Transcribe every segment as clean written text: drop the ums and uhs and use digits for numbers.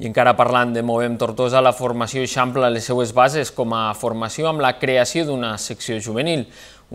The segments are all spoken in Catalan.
I encara parlant de Movem Tortosa, la formació eixampla les seues bases com a formació amb la creació d'una secció juvenil.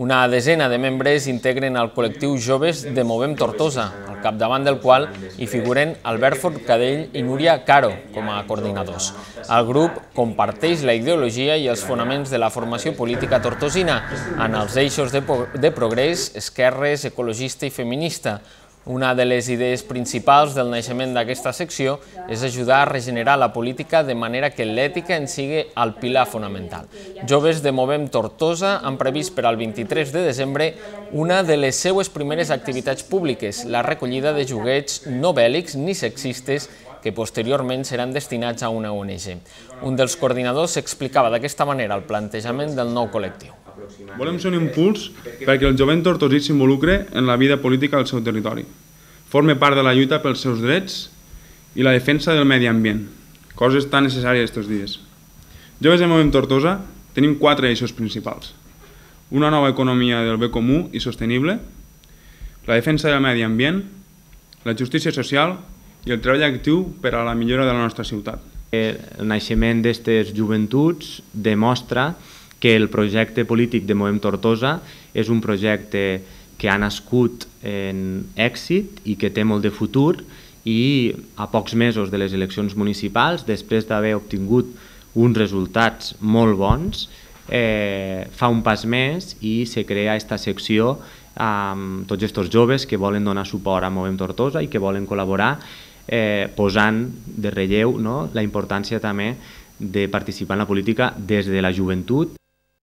Una desena de membres integren el col·lectiu Joves de Movem Tortosa, al capdavant del qual hi figuren Albert Forcadell i Núria Caro com a coordinadors. El grup comparteix la ideologia i els fonaments de la formació política tortosina en els eixos de progrés, esquerres, ecologista i feminista. Una de les idees principals del naixement d'aquesta secció és ajudar a regenerar la política de manera que l'ètica en sigui el pilar fonamental. Joves de Movem Tortosa han previst per al 23 de desembre una de les seues primeres activitats públiques, la recollida de joguets no bèl·lics ni sexistes que posteriorment seran destinats a una ONG. Un dels coordinadors explicava d'aquesta manera el plantejament del nou col·lectiu. Volem ser un impuls perquè el jovent tortosí s'involucre en la vida política del seu territori, forme part de la lluita pels seus drets i la defensa del medi ambient, coses tan necessàries aquests dies. Joves de Movem Tortosa tenim 4 eixos principals. Una nova economia del bé comú i sostenible, la defensa del medi ambient, la justícia social i el treball actiu per a la millora de la nostra ciutat. El naixement d'aquestes joventuts demostra que el projecte polític de Movem Tortosa és un projecte que ha nascut en èxit i que té molt de futur, i a pocs mesos de les eleccions municipals, després d'haver obtingut uns resultats molt bons, fa un pas més i se crea aquesta secció amb tots aquests joves que volen donar suport a Movem Tortosa i que volen col·laborar, posant de relleu la importància també de participar en la política des de la joventut.